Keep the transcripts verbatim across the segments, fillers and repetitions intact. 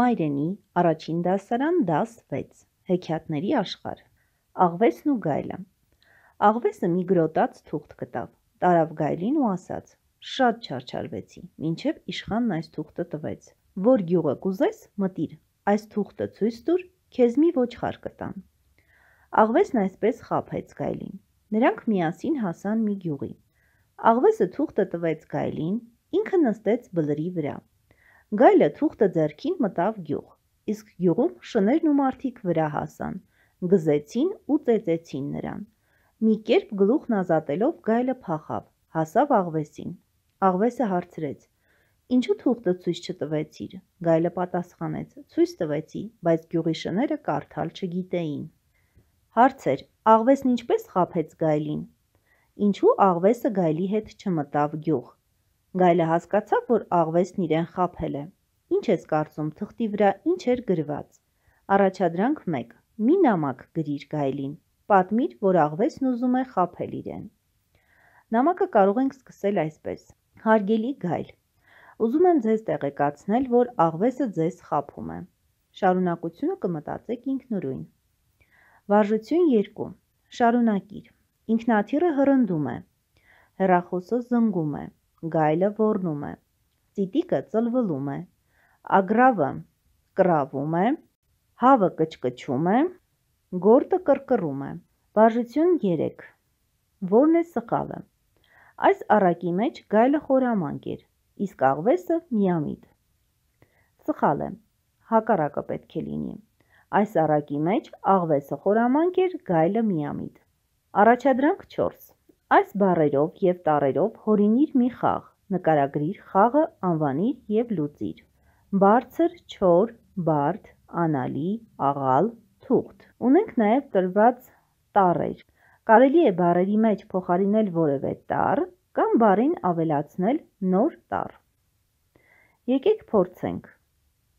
Մայրենի առաջին դասարան դաս վեց հեքիաթների աշխարհ Աղվեսն ու գայլը Աղվեսը մի գրոտած թուղթ գտավ, տարավ գայլին ու ասաց. «Շատ չարչարվեցի, մինչև իշխանն այս թուղթը տվեց, որ գյուղը կուզես մտիր, այս թուղթը ցույց տուր, քեզ մի ոչխար կտամ»։ Աղվեսն այսպես խաբեց գայլին, նրանք միասին հասան մի գյուղի, Աղվեսը թուղթը տվեց գայլին, ինքը նստեց բլրի վրա, գայլը թուղթը ձեռքին մտավ գյուղ, իսկ գյուղում շներն ու մարդիկ վրա հասան, գզեցին ու ծեծեցին նրան, մի կերպ գլուխն ազատելով գայլը փախավ, հասավ Աղվեսին, Աղվեսը հարցրեց. «Ինչու թուղթը ցույց չտվեցիր»։ Գայլը պատասխանեց. «Ցույց տվեցի, բայց գյուղի շները կարդալ չգիտեին»։ Հարցեր. Աղվեսն ինչպես խաբեց գայլին։ Ինչու Աղվեսը գայլի հետ չմտավ գյուղ։ Գայլը հասկացավ, որ Աղվեսն իրեն խաբել է։ Ինչ ես կարծում, թղթի վրա ինչ էր գրված։ Առաջադրանք մեկ. Մի նամակ գրիր գայլին, պատմիր, որ Աղվեսն ուզում է խաբել իրեն։ Նամակը կարող ենք սկսել այսպես. Հարգելի գայլ, ուզում եմ ձեզ տեղեկացնել, որ Աղվեսը ձեզ խաբում է։ Շարունակությունը կմտածեք ինքնուրույն։ Վարժություն երկու. Շարունակիր. Ինքնաթիռը հռնդում է, հեռախոսը զնգում է, գայլը ոռնում է, ծիտիկը ծլվլում է, ագռավը կռավում է, հավը կչկչում է, գորտը կռկռում է։ Վարժություն երեք. Որն է սխալը։ Այս առակի մեջ գայլը խորամանկ էր, իսկ Աղվեսը միամիտ։ Սխալ է, հակառակը պետք է լինի։ Այս առակի մեջ Աղվեսը խորամանկ էր, գայլը միամիտ։ Առաջադրանք չորս. Այս բառերով և տառերով հորինիր մի խաղ, նկարագրիր խաղը, անվանիր և լուծիր։ Բարձր, չոր, բարդ, անալի, աղալ, թուղթ։ Ունենք նաև տրված տառեր։ Կարելի է բառերի մեջ փոխարինել որևէ տառ կամ բառին ավելացնել նոր տառ։ Եկեք փորձենք։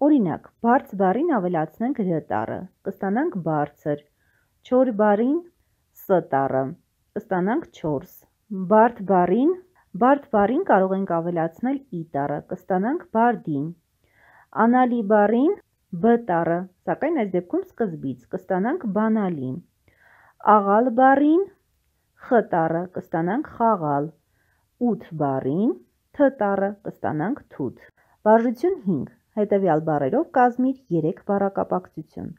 Օրինակ, բարձ բառին ավելացնենք ր տառը, կստանանք բարձր, չոր բառին ս տառը, կստանանք չորս, բարդ բառին բարդ բառին կարող ենք ավելացնել ի տառը, կստանանք բարդին, անալի բառին բ տառը, սակայն այս դեպքում սկզբից, կստանանք բանալի, աղալ բառին խ տառը, կստանանք խաղալ, ութ բառին թ տառը, կստանանք թութ։ Վարժություն հինգ. Հետևյալ բառերով կազմիր երեք բառակապակցություն.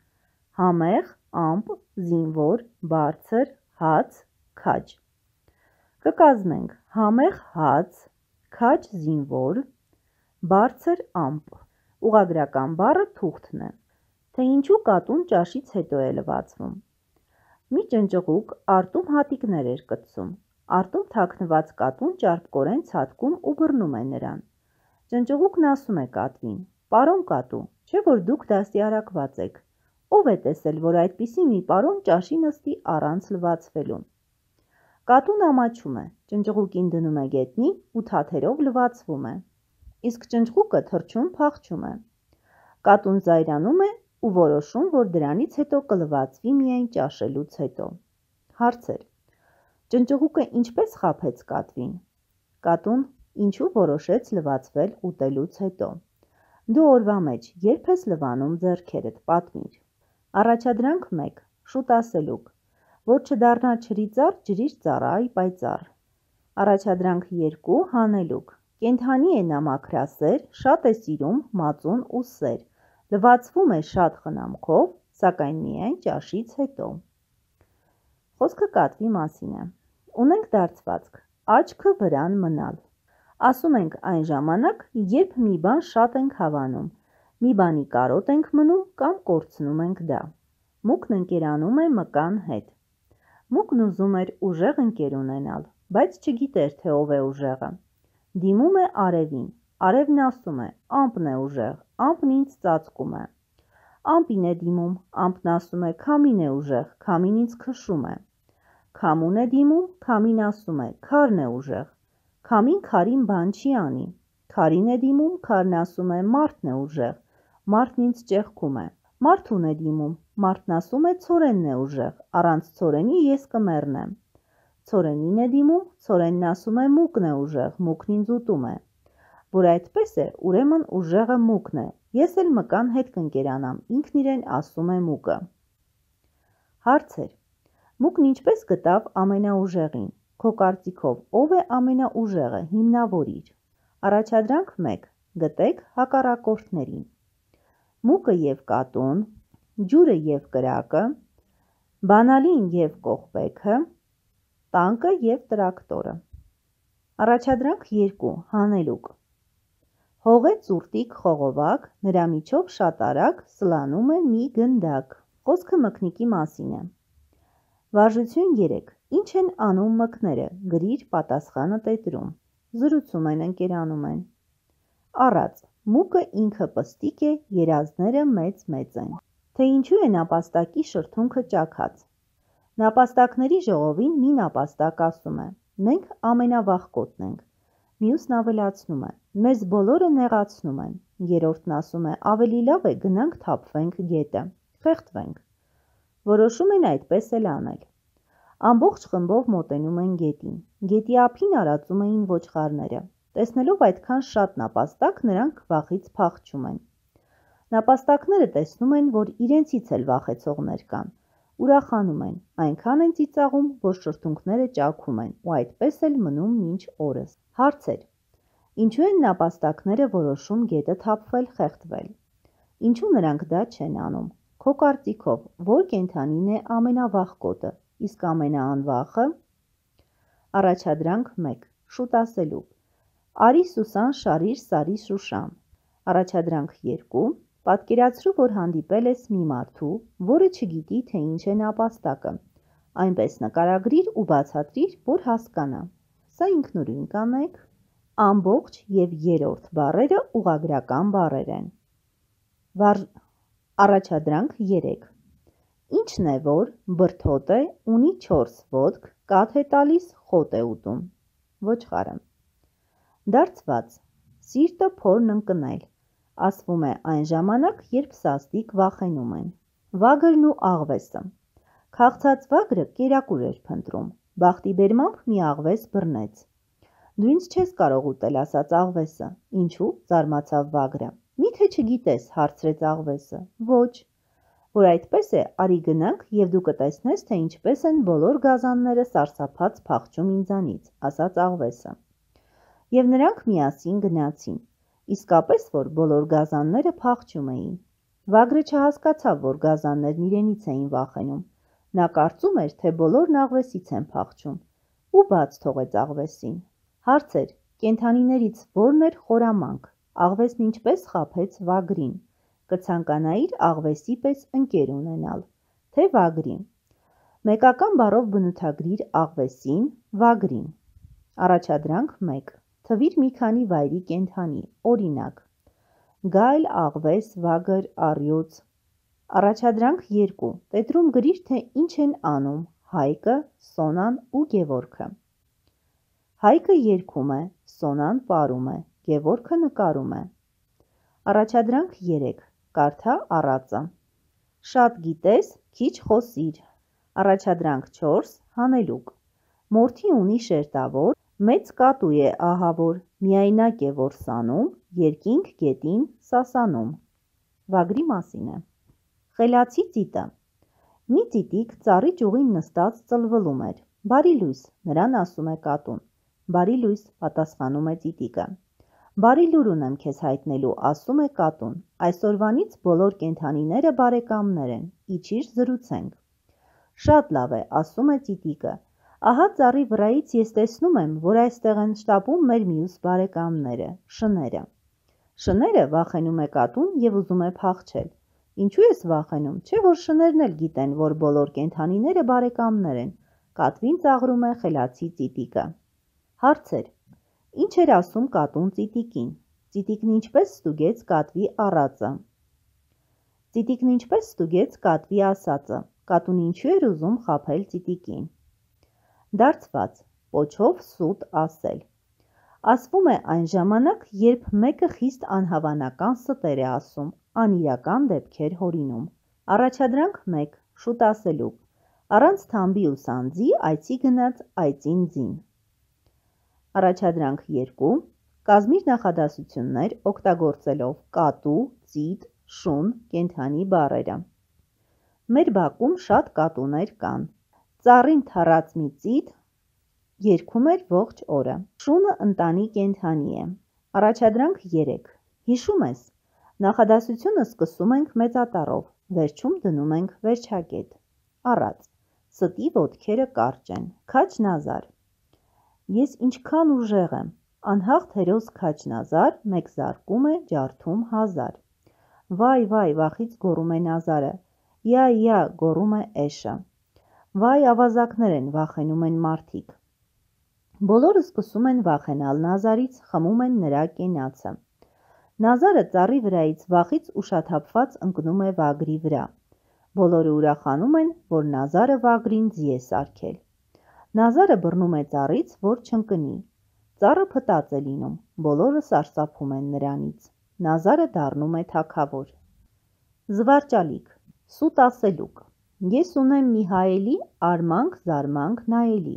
համեղ, ամպ, զինվոր, բարձր, հաց, քաջ։ Կկազմենք համեղ հաց, քաջ զինվոր, բարձր ամպ։ Ուղղագրական բառը թուղթն է։ Թե ինչու կատուն ճաշից հետո է լվացվում։ Մի ճնճղուկ արտում հատիկներ էր կծում։ Արտում թաքնված կատուն ճարպկորեն ցատկում ու բռնում է նրան։ Ճնճղուկն ասում է կատվին. «Պարոն կատու, չէ՞ որ դուք դաստիարակված եք։ Ո՞վ է տեսել, որ այդպիսի մի պարոն ճաշի նստի առանց լվացվելու»։ Կատուն ամաչում է, ճնճղուկին դնում է գետնի ու թաթերով լվացվում է։ Իսկ ճնճղուկը թռչում փախչում է։ Կատուն զայրանում է ու որոշում, որ դրանից հետո կլվացվի միայն ճաշելուց հետո։ Հարցեր. Ճնճղուկը ինչպես խաբեց կատվին։ Կատուն ինչու որոշեց լվացվել ուտելուց հետո։ Դու օրվա մեջ երբ ես լվանում ձեռքերդ, պատմիր։ Առաջադրանք մեկ. Շուտ ասելուկ. Որ չդառնա ջրի ծառ, ջրիր ծառայ պայծառ։ Առաջադրանք երկու. Հանելուկ. Կենդանի է նա մաքրասեր, շատ է սիրում մածուն ու սեր, լվացվում է շատ խնամքով, սակայն միայն ճաշից հետո։ Խոսքը կատվի մասին է։ Ունենք դարձվածք. աչքը վրան մնալ։ Ասում ենք այն ժամանակ, երբ մի բան շատ ենք հավանում, մի բանի կարոտ ենք մնում կամ կորցնում ենք դա։ Մուկն ընկերանում է մկան հետ։ Մուկն ուզում էր ուժեղ ընկեր ունենալ, բայց չգիտեր, թե ով է ուժեղը։ Դիմում է արևին, արևն ասում է. ամպն է ուժեղ, ամպն ինձ ծածկում է։ Ամպին է դիմում, ամպն ասում է. քամին է ուժեղ, քամին ինձ քշում է։ Քամուն է դիմում, քամին ասում է. քարն է ուժեղ, քամին քարին բան չի անի։ Քարին է դիմում, քարն ասում է. մարդն է ուժեղ, մարդն ինձ ճեղքում է։ Մարդուն է դիմում, մարդն ասում է. ցորենն է ուժեղ, առանց ցորենի ես կմեռնեմ։ Ցորենին է դիմում, ցորենն ասում է. մուկն է ուժեղ, մուկն ինձ ուտում է։ որ այդպես է, ուրեմն ուժեղը Մուկն է, ես էլ մկան հետ կընկերանամ, ինքն իրեն ասում է Մուկը։ Հարցեր. Մուկն ինչպես գտավ ամենաուժեղին, քո կարծիքով ով է ամենաուժեղը, հիմնավորիր։ Առաջադրանք մեկ. գտեք հակառակորդներին։ Մուկը և կատուն, ջուրը և կրակը, բանալին և կողպեքը, տանկը և տրակտորը։ Առաջադրանք երկու. հանելուկ։ Հողե ծուրտիկ խողովակ, նրա միջով շատ արագ սլանում է մի գնդակ։ Խոսքը մկնիկի մասին է։ Վարժություն երեք. Ինչ են անում մկները, գրիր պատասխանը տետրում։ Զրուցում են, ընկերանում են։ Առած. Մուկը ինքը պստիկ է, երազները մեծ-մեծ են։ Թե ինչու է նապաստակի շրթունքը ճաքած։ Նապաստակների ժողովին մի նապաստակ ասում է. մենք ամենավախկոտն ենք։ Մյուսն ավելացնում է. մեզ բոլորը նեղացնում են։ Երրորդն ասում է. ավելի լավ է գնանք թափվենք գետը, խեղդվենք։ Որոշում են այդպես էլ անել։ Ամբողջ խմբով մոտենում են գետին։ Գետի ափին արածում էին ոչխարները։ Տեսնելով այդքան շատ նապաստակ, նրանք վախից փախչում են։ Նապաստակները տեսնում են, որ իրենցից էլ վախեցողներ կան, ուրախանում են, այնքան են ծիծաղում, որ շրթունքները ճաքում են ու այդպես էլ մնում մինչ օրս։ Հարցեր. Ինչու են նապաստակները որոշում գետը թափվել, խեղդվել։ Ինչու նրանք դա չեն անում։ Քո կարծիքով որ կենդանին է ամենավախկոտը, իսկ ամենաանվախը։ Առաջադրանք մեկ. շուտ ասելու։ Արի Սուսան, շարիր, սարի Շուշան։ Առաջադրանք երկու. պատկերացրու, որ հանդիպել ես մի մարդու, որը չգիտի, թե ինչ է նապաստակը։ Այնպես նկարագրիր ու բացատրիր, որ հասկանա։ Սա ինքնուրույն կանեք։ Ամբողջ և երրորդ բառերը ուղղագրական բառեր են։ Վար... Առաջադրանք երեք. Ինչն է, որ բրդոտ է, ունի չորս ոտք, կաթ է տալիս, խոտ է ուտում։ Ոչխարը։ Դարձված. սիրտը փորն ընկնել։ Ասվում է այն ժամանակ, երբ սաստիկ վախենում են։ Վագրն ու աղվեսը։ Քաղցած վագրը կերակուր էր փնտրում։ Բախտի բերմամբ մի աղվես բռնեց։ Դու ինձ չես կարող ուտել, ասաց աղվեսը։ Ինչու՞, զարմացավ վագրը։ Միթե չգիտես, հարցրեց աղվեսը։ Ոչ։ Որ այդպես է, արի գնանք և դու կտեսնես, թե ինչպես են բոլոր գազանները սարսափած փախչում ինձանից, ասաց աղվեսը։ Եվ նրանք միասին գնացին։ Իսկապես որ բոլոր գազանները փախչում էին։ Վագրը չհասկացավ, որ գազաններն իրենից էին վախենում։ Նա կարծում էր, թե բոլորն աղվեսից են փախչում ու բաց թողեց աղվեսին։ Հարցեր. կենդանիներից որն էր խորամանկ, աղվեսն ինչպես խաբեց վագրին, կցանկանայիր աղվեսի պես ընկեր ունենալ, թե վագրին։ Մեկական բառով բնութագրիր աղվեսին, վագրին։ Առաջադրանք մեկ. թվիր մի քանի վայրի կենդանի, օրինակ. գայլ, աղվես, վագր, առյուծ։ Առաջադրանք երկու. տետրում գրիր, թե ինչ են անում Հայկը, Սոնան ու Գևորգը։ Հայկը երգում է, Սոնան պարում է, Գևորգը նկարում է։ Առաջադրանք երեք. կարդա առածը։ Շատ գիտես, քիչ խոսիր։ Առաջադրանք չորս. հանելուկ։ Մորթի ունի շերտավոր, մեծ կատու է ահավոր, միայնակ է որ սանում, երկինք գետին սասանում։ Վագրի մասին է։ Խելացի ծիտը։ Մի ծիտիկ ծառի ճյուղին նստած ծլվլում էր։ Բարի լույս, նրան ասում է կատուն։ Բարի լույս, պատասխանում է ծիտիկը։ Բարի լուր ունեմ քեզ հայտնելու, ասում է կատուն։ Այսօրվանից բոլոր կենդանիները բարեկամներ են, իջիր զրուցենք։ Շատ լավ է, ասում է ծիտիկը։ Ահա ծառի վրայից ես տեսնում եմ, որ այստեղ են շտապում մեր մյուս բարեկամները, շները։ Շները վախենում է կատուն և ուզում է փախչել։ Ինչու ես վախենում, չէ՞ որ շներն էլ գիտեն, որ բոլոր կենդանիները բարեկամներ են, կատվին ծաղրում է խելացի ծիտիկը։ Հարցեր. Ինչ էր ասում կատուն ծիտիկին։ Ծիտիկն ինչպես ստուգեց կատվի առածը։ Ծիտիկն ինչպես ստուգեց կատվի ասածը։ Կատուն ինչու էր ուզում խաբել ծիտիկին։ Դարձված. պոչով սուտ ասել։ Ասվում է այն ժամանակ, երբ մեկը խիստ անհավանական ստեր է ասում, անիրական դեպքեր հորինում։ Առաջադրանք մեկ. շուտ ասելու։ Առանց թամբի ու սանձի այցի գնաց այծին ձին։ Առաջադրանք երկու. Կազմիր նախադասություններ օգտագործելով կատու, ծիտ, շուն, կենդանի բառերը։ Մեր բակում շատ կատուներ կան։ Ծառին թռած մի ծիտ երգում էր ողջ օրը։ Շունը ընտանի կենդանի է։ Առաջադրանք երեք։ Հիշում ես, նախադասությունը սկսում ենք մեծատառով, վերջում դնում ենք վերջակետ։ Առած, ստի ոտքերը կարճ են, Քաչնազար։ Ես ինչքան ուժեղ եմ, անհաղթ հերոս Քաչնազար, մեկ զարկում է ջարդում հազար։ Վայ, վայ, վախից գոռում է Նազարը, յա, յա, գոռում է էշը։ Վայ, ավազակներ են, վախենում են մարդիկ։ Բոլորը սկսում են վախենալ Նազարից, խմում են նրա կենացը։ Նազարը ծառի վրայից վախից ուշաթափված ընկնում է վագրի վրա։ Բոլորը ուրախանում են, որ Նազարը վագրին ձի է սարքել։ Նազարը բռնում է ծառից, որ չընկնի։ Ծառը փտած է լինում, բոլորը սարսափում են նրանից։ Նազարը դառնում է թագավոր։ Զվարճալիք, սուտ ասելուկ։ Ես ունեմ մի հայելի, արմանք, զարմանք նայելի։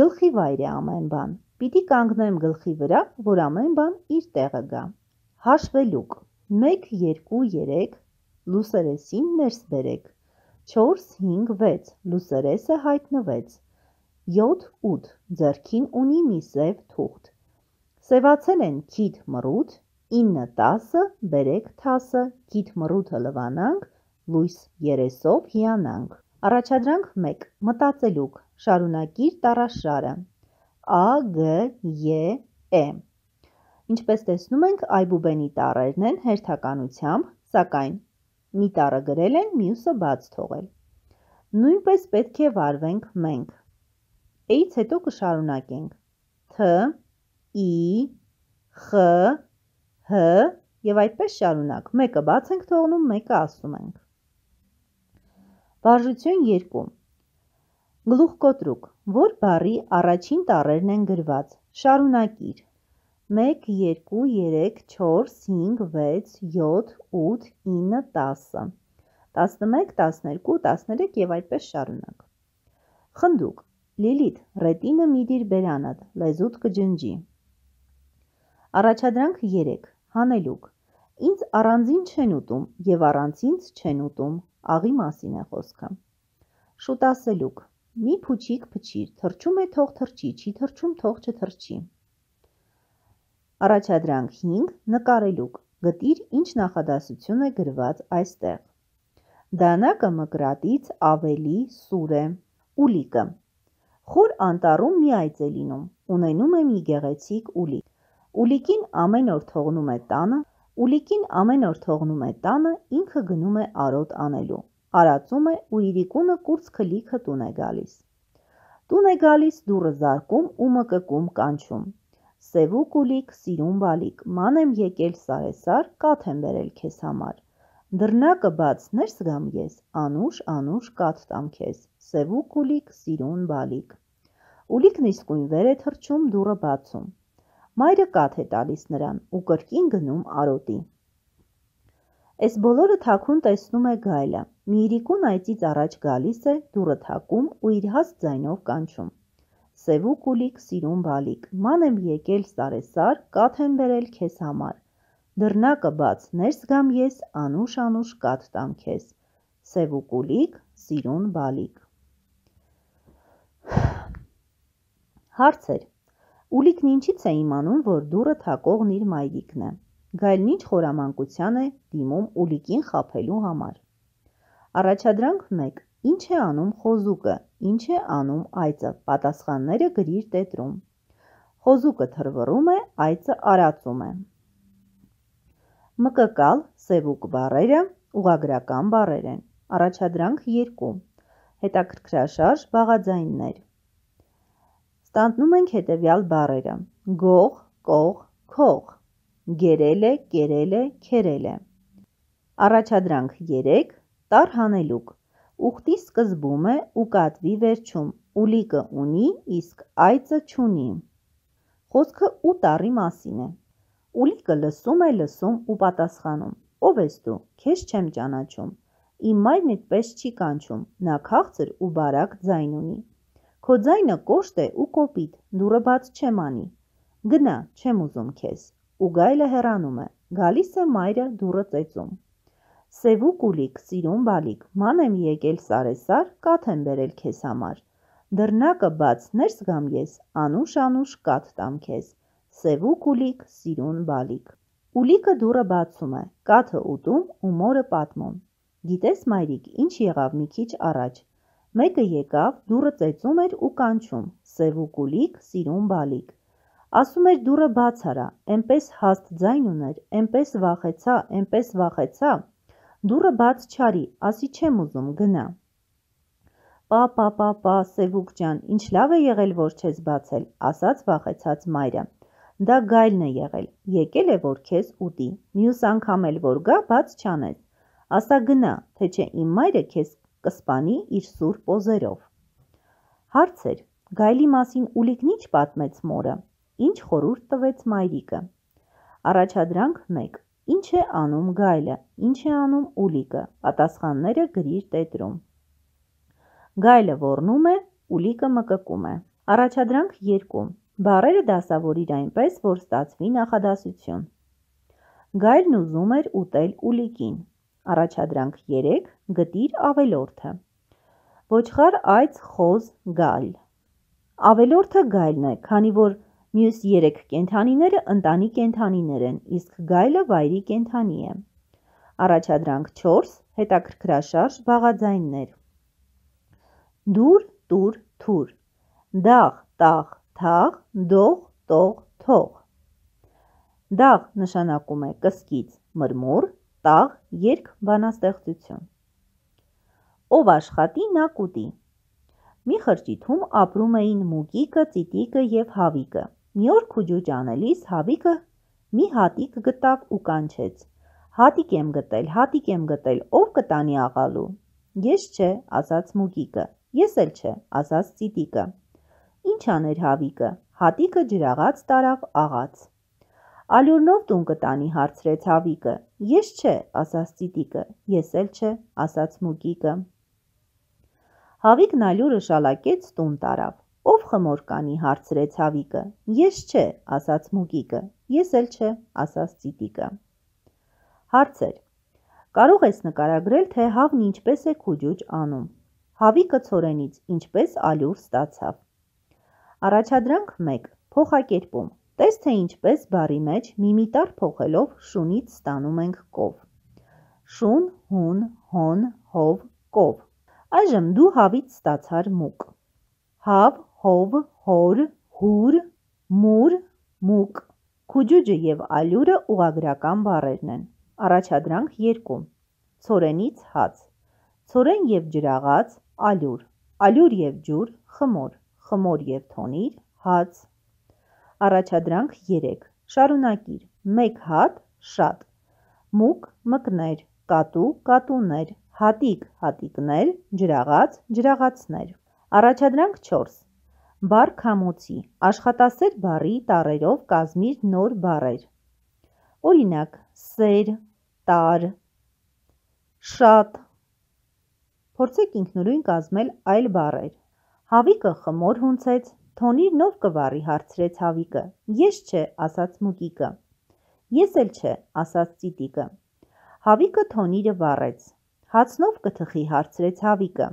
Գլխի վայր է ամեն բան, պիտի կանգնեմ գլխի վրա, որ ամեն բան իր տեղը գա։ Հաշվելուկ, մեկ, երկու, երեք, լուսերեսին ներս բերեք, չորս, հինգ, վեց, լուսերեսը հայտնվեց, յոթ, ութ, ձեռքին ունի մի սև թուղթ, սևացել են քիթ մռութ, ինը, տասը, բերեք թասը, քիթ մռութը լվանանք, լույս երեսով հիանանք։ Առաջադրանք մեկ, մտածելուկ, շարունակիր տառաշարը, ա, գ, ե, է։ Ինչպես տեսնում ենք, այբուբենի տառերն են հերթականությամբ, սակայն մի տառը գրել են, մյուսը բաց թողել։ Նույնպես պետք է վարվենք մենք։ Էից հետո կշարունակենք თ, ի, խ, հ և այդպես շարունակ, մեկը բաց ենք թողնում, մեկը ասում ենք։ Վարժություն երկու։ Գլուխկոտրուկ, որ բառի առաջին տառերն են գրված, շարունակիր։ մեկ, երկու, երեք, չորս, հինգ, վեց, յոթ, ութ, ինը, տասը, տասնմեկ, տասներկու, տասներեք և այդպես շարունակ։ Խնդուկ, Լիլիթ, ռետինը մի դիր բերանդ, լեզուդ կջնջի։ Առաջադրանք երեք, հանելուկ, ինձ առանձին չեն ուտում և առանց ինձ չեն ուտում, աղի մասին է խոսքը։ Շուտասելուկ, մի փուչիկ փչիր, թռչում է թող թռչի, չի թռչում թող չթռչի։ Առաջադրանք հինգ, նկարելուկ, գտիր ինչ նախադասություն է գրված այստեղ։ Դանակը մկրատից ավելի սուր է։ Ուլիկը, խոր անտառում մի այծ է լինում, ունենում է մի գեղեցիկ ուլիկ։ Ուլիկին ամեն օր թողնում է տանը, ուլիկին ամեն օր թողնում է տանը, ինքը գնում է արոտ անելու։ Արածում է ու իրիկունը կուրծքը լիքը տուն է գալիս։ Տուն է գալիս, դուռը զարկում ու մկկում կանչում։ Սևուկ ուլիկ, սիրուն բալիկ, ման եմ եկել սարեսար, կաթ եմ բերել քեզ համար։ Դռնակը բաց ներս գամ ես, անուշ, անուշ կաթ տամ քեզ, սևուկ ուլիկ, սիրուն բալիկ։ Ուլիկն իսկույն վեր է թռչում, դուռը բացում։ Մայրը կաթ է տալիս նրան ու կրկին գնում արոտի։ Էս բոլորը թաքուն տեսնում է գայլը, մի իրիկուն այծից առաջ գալիս է, դուռը թակում ու իր հաստ ձայնով կանչում։ Սևուկ ուլիկ, սիրուն բալիկ, ման եմ եկել սարեսար, կաթ եմ բերել քեզ համար։ Դռնակը բաց ներս գամ ես, անուշ, անուշ կաթ տամ քեզ, սևուկ ուլիկ, սիրուն բալիկ։ Հարցեր. Ուլիկն ինչից է իմանում, որ դուռը թակողն իր մայրիկն է։ Գայլն ինչ խորամանկության է դիմում ուլիկին խաբելու համար։ Առաջադրանք մեկ. Ինչ է անում խոզուկը, ինչ է անում այծը, պատասխանները գրիր տետրում։ Խոզուկը թռվռում է, այծը արածում է։ Մկկալ, սևուկ բառերը ուղղագրական բառեր են։ Առաջադրանք երկու. Հետաքրքրաշարժ բաղաձայններ։ Ստանձնում ենք հետևյալ բառերը. գող, կող, քող, գերել է, կերել է, քերել է։ Առաջադրանք երեք. Տառ հանելուկ, ուխտի սկզբում է ու կատվի վերջում, ուլիկը ունի, իսկ այծը չունի։ Խոսքը ու տառի մասին է։ Ուլիկը լսում է, լսում ու պատասխանում. Ով ես դու, քեզ չեմ ճանաչում, իմ մայրն այդպես չի կանչում, նա քաղցր ու բարակ ձայն ունի։ Քո ձայնը կոշտ է ու կոպիտ, դուռը բաց չեմ անի։ Գնա, չեմ ուզում քեզ։ Ու գայլը հեռանում է, գալիս է մայրը դուռը ծեծում։ Սևուկ ուլիկ, սիրուն բալիկ, ման եմ եկել սարեսար, կաթ եմ բերել քեզ համար։ Դռնակը բաց, ներս գամ ես, անուշ-անուշ կաթ տամ քեզ։ Սևուկ ուլիկ, սիրուն բալիկ։ Ուլիկը դուռը բացում է, կաթը ուտում ու մորը պատմում։ Գիտես, մայրիկ, ինչ եղավ մի քիչ առաջ։ Մեկը եկավ, դուռը ծեծում էր ու կանչում, սևուկ ուլիկ, սիրուն բալիկ։ Ասում էր դուռը բաց արա, էնպես հաստ ձայն ուներ, էնպես վախեցա, էնպես վախեցա, դուռը բաց չարի, ասի չեմ ուզում, գնա։ Պա, պա, պա, պա, Սևուկ ջան, ինչ լավ է եղել, որ չես բացել, ասաց վախեցած մայրը։ Դա գայլն է եղել, եկել է, որ քեզ ուտի, մյուս անգամ էլ որ գա, բաց չանես, ասա գնա, թե չէ իմ մայրը քեզ կսպանի իր սուրբ օզերով։ Հարց էր, գայլի մասին Ուլիկն ինչ պատմեց մորը, ինչ խորհուրդ տվեց մայրիկը։ Առաջադրանք մեկ. Ինչ է անում գայլը, ինչ է անում Ուլիկը, պատասխանները գրիր տետրում։ Գայլը ոռնում է, Ուլիկը մկկում է։ Առաջադրանք երկու. Բառերը դասավորիր այնպես, որ ստացվի նախադասություն։ Գայլն ուզում էր ուտել Ուլիկին։ Առաջադրանք երեք. Գտիր ավելորդը։ Ոչխար, այծ, խոզ, գայլ։ Ավելորդը գայլն է, քանի որ մյուս երեք կենդանիները ընտանի կենդանիներ են, իսկ գայլը վայրի կենդանի է։ Առաջադրանք չորս. Հետաքրքրաշարժ բաղաձայններ։ Դուր, տուր, թուր, դաղ, տաղ, թաղ, դող, տող, թող։ Դաղ նշանակում է կսկիծ, մրմուռ, տաղ, երգ, բանաստեղծություն։ Ով աշխատի, նա կուտի։ Մի խրճիթում ապրում էին Մուկիկը, Ծիտիկը և Հավիկը։ Մի օր քուջուճ անելիս Հավիկը մի հատիկ գտավ ու կանչեց. Հատիկ եմ գտել, հատիկ եմ գտել, ով կտանի աղալու։ Ես չէ, ասաց Մուկիկը, ես էլ չէ, ասաց Ծիտիկը։ Ինչ աներ Հավիկը, հատիկը ջրաղաց տարավ աղաց։ Ալյուրնով տուն կտանի, հարցրեց Հավիկը։ Ես չէ, ասաց Ծիտիկը, ես էլ չէ, ասաց Մուկիկը։ Հավիկն ալյուրը շալակեց, տուն տարավ։ Ով խմոր կանի, հարցրեց Հավիկը։ Ես չէ, ասաց Մուկիկը, ես էլ չէ, ասաց Ծիտիկը։ Հարցեր. Կարող ես նկարագրել, թե հավն ինչպես է քուջուճ անում։ Հավիկը ցորենից ինչպես ալյուր ստացավ։ Առաջադրանք մեկ. Փոխակերպում։ Տես թե ինչպես բառի մեջ միմիտար փոխելով շունից ստանում ենք կով։ Շուն, հուն, հոն, հով, կով։ Այժմ դու հավից ստացար մուկ։ Հավ, հով, հոր, հուր, մուր, մուկ։ Քուջուջը և ալյուրը ուղղագրական բառերն են։ Առաջադրանք երկու. Ցորենից հաց։ Ցորեն և ջրաղաց, ալյուր։ Ալյուր և ջուր, խմոր։ Խմոր և թոնիր, հաց։ Առաջադրանք երեք. Շարունակիր. Մեկ հատ, շատ։ Մուկ, մկներ, կատու, կատուներ, հատիկ, հատիկներ, ջրաղաց, ջրաղացներ։ Առաջադրանք չորս. Բառ քամոցի, աշխատասեր բառի տառերով կազմիր նոր բառեր։ Օրինակ, սեր, տար, շատ։ Փորձեք ինքնուրույն կազմել այլ բառեր։ Հավիկը խմոր հունցեց, թոնիրն ով կվառի, հարցրեց Հավիկը։ Ես չէ, ասաց Մուկիկը։ Ես էլ չէ, ասաց Ծիտիկը։ Հավիկը թոնիրը վառեց։ Հացնով կթխի, հարցրեց Հավիկը։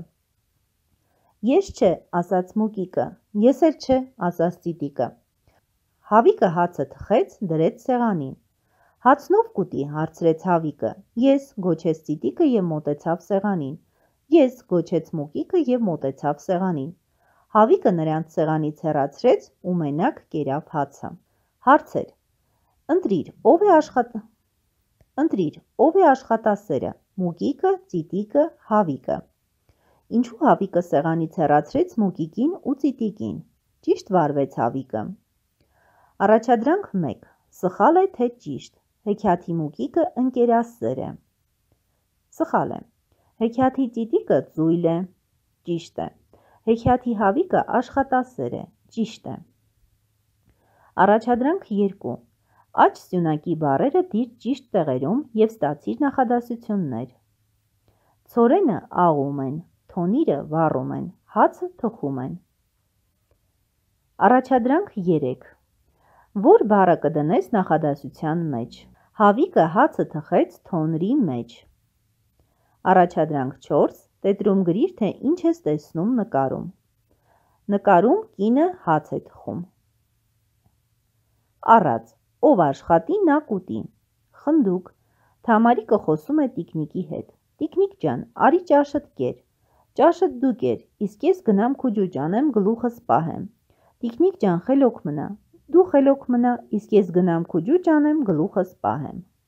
Ես չէ, ասաց Մուկիկը, ես էլ չէ, ասաց Ծիտիկը։ Հավիկը հացը թխեց, դրեց սեղանին։ Հացնով կուտի, հարցրեց Հավիկը։ Ես, գոչեց Ծիտիկը և մոտեցավ սեղանին։ Ես, գոչեց Մուկիկը և մոտեցավ սեղանին։ Հավիկը նրանց սեղանից հեռացրեց ու մենակ կերավ հացը։ Հարցեր. Ընտրիր, ով է աշխատ... Ընտրիր, ով է աշխատասերը, Մուկիկը, Ծիտիկը, Հավիկը։ Ինչու Հավիկը սեղանից հեռացրեց Մուկիկին ու Ծիտիկին։ Ճիշտ վարվեց Հավիկը։ Առաջադրանք մեկ. Սխալ է, թե ճիշտ։ Հեքիաթի Մուկիկը ընկերասեր է։ Սխալ է։ Հեքիաթի Ծիտիկը ծույլ է։ Ճիշտ է։ Հեքիաթի Հավիկը աշխատասեր է։ Ճիշտ է։ Առաջադրանք երկու. Աջ սյունակի բառերը դիր ճիշտ տեղերում և ստացիր նախադասություններ։ Ցորենը աղում են, թոնիրը վառում են, հացը թխում են։ Առաջադրանք երեք. Որ բառը կդնես նախադասության մեջ։ Հավիկը հացը թխեց թոնրի մեջ։ Առաջադրանք չորս. Տետրում գրիր, թե ինչ ես տեսնում նկարում։ Նկարում կինը հաց է թխում։ Առած. ով աշխատի, նա կուտի։ Խնդուկ. Թամարիկը խոսում է տիկնիկի հետ։ Տիկնիկ ջան, արի ճաշդ կեր։ Ճաշդ դու կեր, իսկ ես գնամ քուջուճ անեմ, գլուխս պահեմ։ Տիկնիկ ջան, խելոք մնա։ Դու խելոք մնա, իսկ ես գնամ քուջուճ անեմ, գլուխս պահեմ։